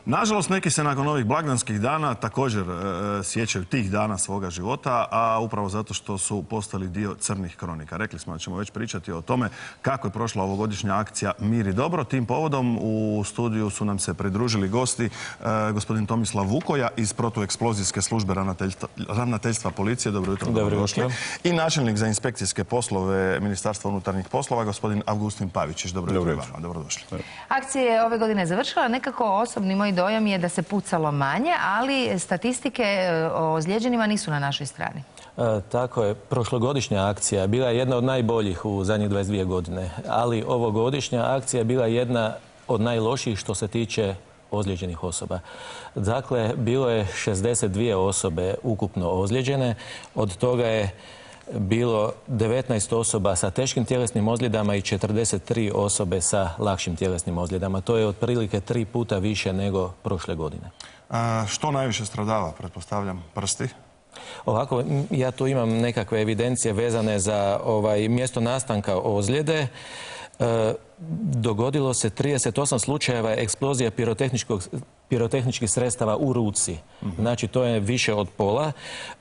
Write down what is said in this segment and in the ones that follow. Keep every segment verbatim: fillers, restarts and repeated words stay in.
Nažalost, neki se nakon ovih blagdanskih dana također e, sjećaju tih dana svoga života, a upravo zato što su postali dio crnih kronika. Rekli smo da ćemo već pričati o tome kako je prošla ovogodišnja akcija Mir i dobro. Tim povodom u studiju su nam se pridružili gosti, e, gospodin Tomislav Vukoja iz protueksplozijske službe ravnateljstva, ravnateljstva policije. Dobro jutro, dobrodošli. I načelnik za inspekcijske poslove Ministarstva unutarnjih poslova, gospodin Avgustin Pavičić. Dobro jutro i vama, dobrodošli. Akcija je ove godine završila. Nekako osobni moj dojam je da se pucalo manje, ali statistike o ozlijeđenima nisu na našoj strani. E, tako je. Prošlogodišnja akcija bila je jedna od najboljih u zadnjih dvadeset dvije godine, ali ovogodišnja akcija je bila jedna od najlošijih što se tiče ozlijeđenih osoba. Dakle, bilo je šezdeset dvije osobe ukupno ozlijeđene, od toga je bilo devetnaest osoba sa teškim tjelesnim ozljedama i četrdeset tri osobe sa lakšim tjelesnim ozljedama. To je otprilike tri puta više nego prošle godine. A, što najviše stradava, pretpostavljam, prsti? Ovako, ja tu imam nekakve evidencije vezane za ovaj, mjesto nastanka ozljede. E, dogodilo se trideset osam slučajeva eksplozija pirotehničkih sredstava u ruci. Znači, to je više od pola.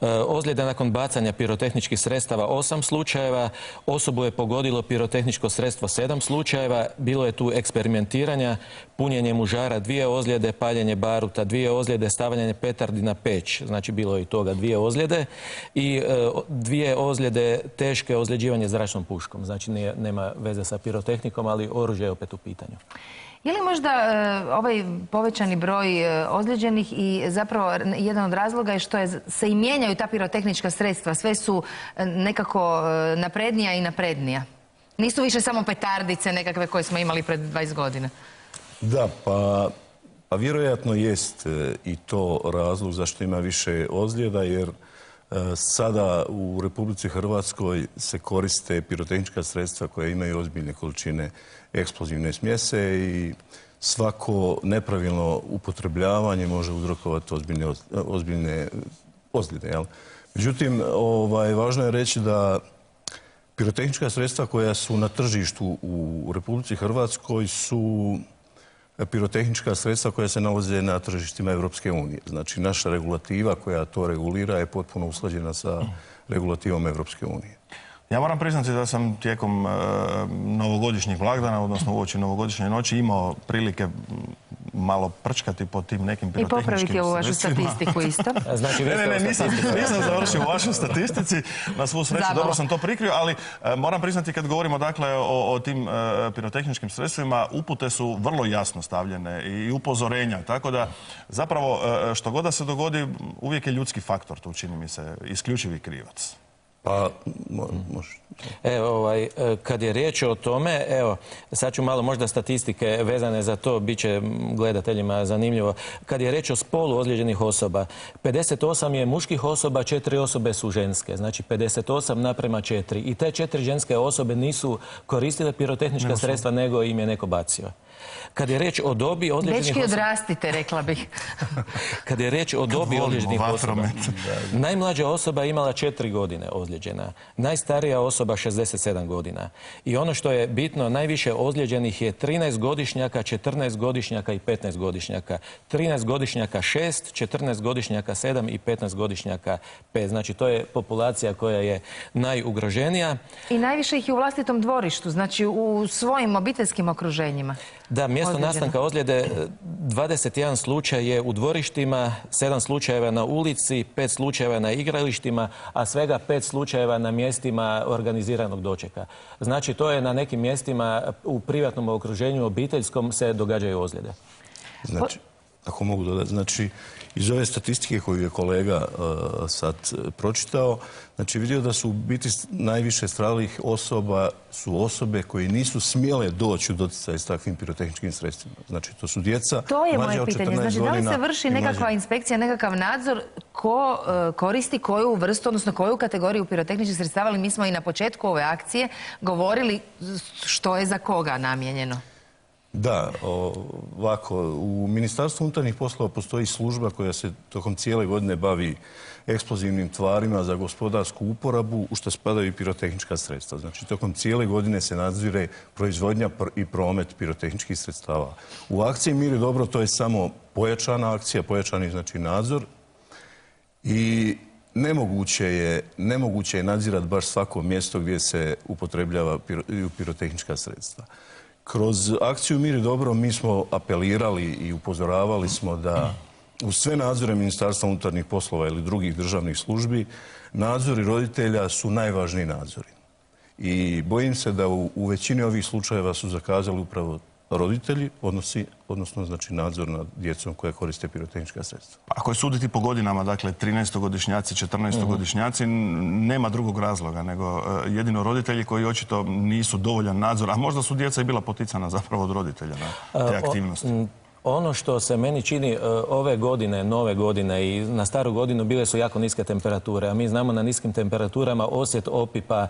E, ozljeda nakon bacanja pirotehničkih sredstava osam slučajeva. Osobu je pogodilo pirotehničko sredstvo sedam slučajeva. Bilo je tu eksperimentiranja, punjenje mužara dvije ozljede, paljenje baruta dvije ozljede, stavljanje petardi na peć. Znači, bilo je i toga dvije ozljede. I e, dvije ozljede teške ozljeđivanje zračnom puškom. Znači, nije, nema veze sa pirotehnikom, ali oružje je opet u pitanju. Je li možda e, ovaj povećani broj e, ozlijeđenih i zapravo jedan od razloga je što je, se i mijenjaju ta pirotehnička sredstva, sve su e, nekako e, naprednija i naprednija? Nisu više samo petardice nekakve koje smo imali pred dvadeset godina? Da, pa, pa vjerojatno jest e, i to razlog zašto ima više ozljeda, jer sada u Republici Hrvatskoj se koriste pirotehnička sredstva koja imaju ozbiljne količine eksplozivne smjese i svako nepravilno upotrebljavanje može uzrokovati ozbiljne, ozbiljne ozljede. Jel? Međutim, ovaj, važno je reći da pirotehnička sredstva koja su na tržištu u Republici Hrvatskoj su pirotehnička sredstva koja se nalaze na tržištima Europske unije. Znači, naša regulativa koja to regulira je potpuno usklađena sa regulativom Europske unije. Ja moram priznati da sam tijekom e, novogodišnjih blagdana, odnosno uoči novogodišnje noći, imao prilike malo prčkati po tim nekim pirotehničkim sredstvima. I popraviti ovu vašu statistiku isto. Znači, ne, ne, ne, nisam, nisam završio u vašoj statistici. Na svu sreću, dobro sam to prikrio, ali e, moram priznati kad govorimo dakle o, o tim e, pirotehničkim sredstvima, upute su vrlo jasno stavljene i upozorenja. Tako da zapravo e, što god da se dogodi, uvijek je ljudski faktor, tu čini mi se, isključivi krivac. Pa, može. Evo, ovaj, kad je riječ o tome, evo, sad ću malo možda statistike vezane za to, bit će gledateljima zanimljivo. Kad je riječ o spolu ozlijeđenih osoba, pedeset osam je muških osoba, četiri osobe su ženske. Znači, pedeset osam naprema četiri. I te četiri ženske osobe nisu koristile pirotehnička sredstva, nego im je neko bacio. Kad je riječ o dobi ozlijeđenih osoba... Dečki odrastite, rekla bih. Kad je riječ o dobi ozlijeđenih osoba, najmlađa osoba je imala četiri godine ozlijeđena, najstarija osoba šezdeset sedam godina. I ono što je bitno, najviše ozlijeđenih je trinaestogodišnjaka, četrnaestogodišnjaka i petnaestogodišnjaka. trinaestogodišnjaka šest, četrnaestogodišnjaka sedam i petnaestogodišnjaka pet. Znači, to je populacija koja je najugroženija. I najviše ih je u vlastitom dvorištu, znači u svojim obiteljskim okruženjima. Da, mjesto Ozlijeđeno. nastanka ozljede, dvadeset jedan slučaj je u dvorištima, sedam slučajeva na ulici, pet slučajeva na igralištima, a svega pet slučajeva na mjestima organiziranog dočeka. Znači, to je na nekim mjestima u privatnom okruženju, obiteljskom, se događaju ozljede. Znači, ako mogu dodati, znači, iz ove statistike koju je kolega uh, sad pročitao, znači vidio da su u biti najviše stradalih osoba su osobe koje nisu smjele doći u doticaj s takvim pirotehničkim sredstvima. Znači, to su djeca to je moje pitanje. Znači, da li se vrši nekakva inspekcija, nekakav nadzor ko uh, koristi koju vrstu, odnosno koju kategoriju pirotehničkih sredstava, ali mi smo i na početku ove akcije govorili što je za koga namijenjeno? Da, ovako, u Ministarstvu unutarnjih poslova postoji služba koja se tokom cijele godine bavi eksplozivnim tvarima za gospodarsku uporabu, u što spadaju i pirotehnička sredstva. Znači, tokom cijele godine se nadzire proizvodnja i promet pirotehničkih sredstava. U akciji Mir i dobro to je samo pojačana akcija, pojačani znači nadzor i nemoguće je, nemoguće je nadzirati baš svako mjesto gdje se upotrebljava pirotehnička sredstva. Kroz akciju Mir i dobro mi smo apelirali i upozoravali smo da uz sve nadzore Ministarstva unutarnjih poslova ili drugih državnih službi, nadzori roditelja su najvažniji nadzori. I bojim se da u, u većini ovih slučajeva su zakazali upravo roditelji, odnosi, odnosno znači nadzor nad djecom koja koriste pirotehnička sredstva. Ako je suditi po godinama, dakle trinaestogodišnjaci, četrnaestogodišnjaci, nema drugog razloga nego jedino roditelji koji očito nisu dovoljan nadzor, a možda su djeca i bila poticana zapravo od roditelja na te aktivnosti. Ono što se meni čini ove godine, nove godine i na staru godinu bile su jako niske temperature, a mi znamo na niskim temperaturama osjet opipa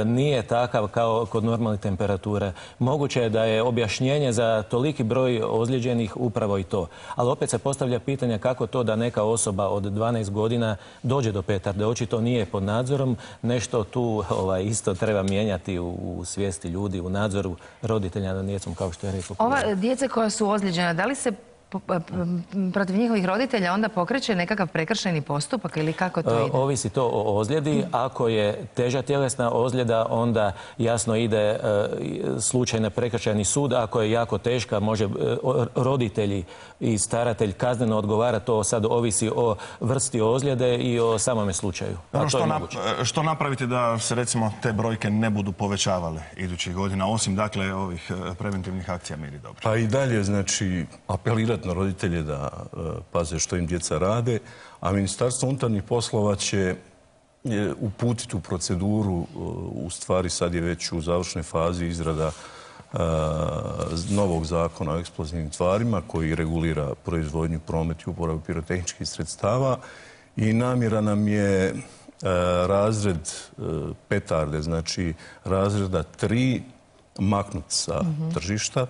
nije takav kao kod normalne temperature. Moguće je da je objašnjenje za toliki broj ozlijeđenih upravo i to. Ali opet se postavlja pitanje kako to da neka osoba od dvanaest godina dođe do petarde. Očito nije pod nadzorom. Nešto tu ovaj, isto treba mijenjati u, u svijesti ljudi, u nadzoru roditelja nad djecom, kao što je rekao. Ova djeca koja su ozlijeđena, da li se protiv njihovih roditelja onda pokreće nekakav prekršajni postupak ili kako to ide? Ovisi to o ozljedi. Ako je teža tjelesna ozljeda, onda jasno ide slučaj na prekršajni sud. Ako je jako teška, može roditelji i staratelj kazneno odgovara. To sad ovisi o vrsti ozljede i o samome slučaju. A što, na, što napraviti da se recimo te brojke ne budu povećavale idućih godina, osim dakle ovih preventivnih akcija Mir i dobro? Pa i dalje, znači, apelirati na roditelje da uh, paze što im djeca rade, a Ministarstvo unutarnjih poslova će je, uputiti u proceduru, uh, u stvari sad je već u završnoj fazi izrada uh, novog zakona o eksplozivnim tvarima koji regulira proizvodnju, promet i uporabu pirotehničkih sredstava i namjera nam je uh, razred uh, petarde, znači razreda tri maknuti sa mm-hmm. tržišta.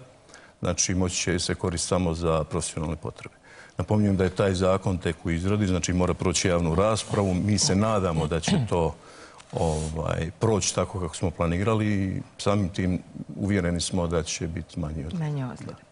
Znači, moći će se koristiti samo za profesionalne potrebe. Napominjem da je taj zakon tek u izradi, znači mora proći javnu raspravu. Mi se nadamo da će to ovaj, proći tako kako smo planirali i samim tim uvjereni smo da će biti manje ozljede.